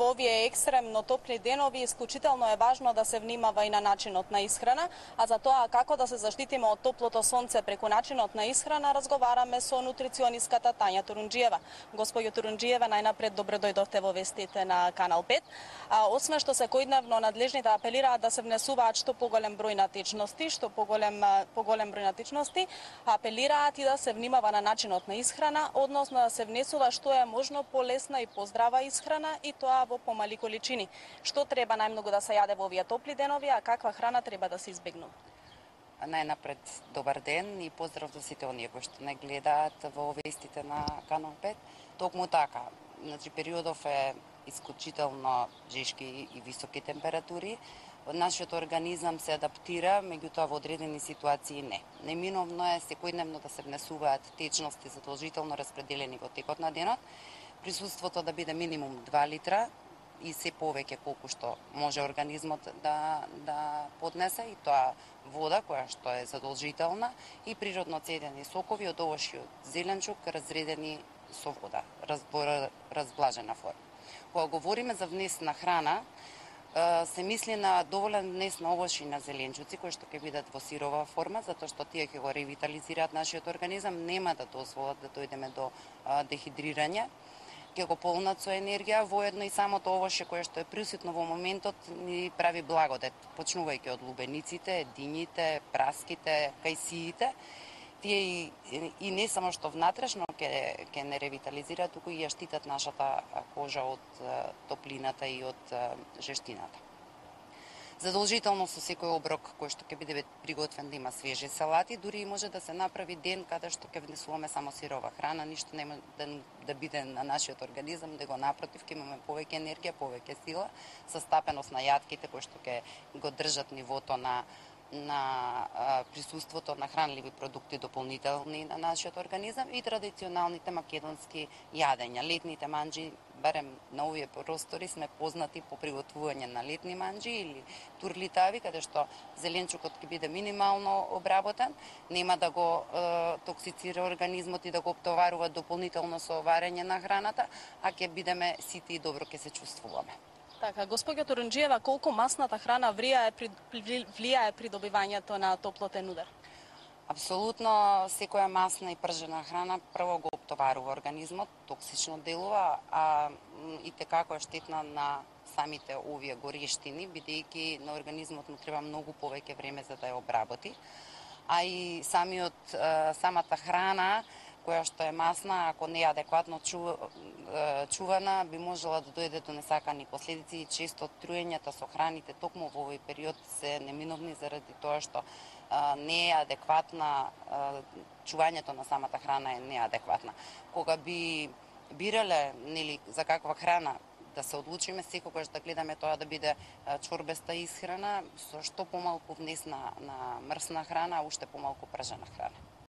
Во овие екстремно топли денови исклучително е важно да се внимава и на начинот на исхрана, а за тоа како да се заштитиме од топлото сонце преку начинот на исхрана разговараме со нутриционистката Тања Турунџиева. Господјо Турунџиева, најнапред добро дојдовте во вестите на Канал 5. Освен што секојдневно надлежните апелираат да се внесуваат што поголем број на течности, поголем број на течности, апелираат и да се внимава на начинот на исхрана, односно да се внесува што е можно полесна и поздрава исхрана и тоа во помали количини. Што треба најмногу да се јаде во овие топли денови, а каква храна треба да се избегнува? Најнапред добар ден и поздрав до сите оние кои што не гледаат во вестите на Канал 5. Токму така, значи периодов е исклучително жешки и високи температури. Нашиот организам се адаптира, меѓутоа во одредени ситуации не. Неминовно е секојдневно да се внесуваат течности задолжително распределени во текот на денот. Присуството да биде минимум 2 литра и се повеќе колку што може организмот да поднесе, и тоа вода која што е задолжителна и природно цедени сокови од овошји од зеленчук разредени со вода, разблажена форма. Кога говориме за внес на храна, се мисли на доволен внес на овошји на зеленчуци кои што ќе бидат во сирова форма, затоа што тие ќе го ревитализираат нашиот организам, нема да дозволат да дојдеме до дехидрирање, ќе го полнат со енергија, воедно и самото овошје кое што е присутно во моментот ни прави благодет, почнувајќи од лубениците, дињите, праските, кајсиите. Тие и не само што внатрешно ќе не ревитализираат, туку и ја штитат нашата кожа од топлината и од жештината. Задолжително со секој оброк кој што ќе биде приготвен да има свежи салати, дури и може да се направи ден каде што ќе внесуваме само сирова храна, ништо нема да биде на нашиот организам, да го напротив, ќе имаме повеќе енергија, повеќе сила, со стапеност на јатките кои што ќе го држат нивото на присуството на хранливи продукти дополнителни на нашиот организам и традиционалните македонски јадења. Летните манџи, барем на овие простори, сме познати по приготвување на летни манџи или турлитави, каде што зеленчукот ќе биде минимално обработен, нема да го токсицира организмот и да го оптоварува дополнително со варење на храната, а ќе бидеме сити и добро ќе се чувствуваме. Така, господјо Турунџиева, колку масната храна влијае при добивањето на топлотен удар? Апсолутно, секоја масна и пржена храна прво го оптоварува организмот, токсично делува, а и tekako е штетна на самите овие горештини, бидејќи на организмот му треба многу повеќе време за да ја обработи. А и самата храна која што е масна, ако не е адекватно чувана, би можела да дојде до несакани последици и често труењата со храните токму во овој период се неминовни заради тоа што не е адекватна, чувањето на самата храна е неадекватна. Кога би бирале за каква храна да се одлучиме, секогаш да гледаме тоа да биде чорбеста исхрана, со што помалку внес на мрсна храна, а уште помалку пржена храна.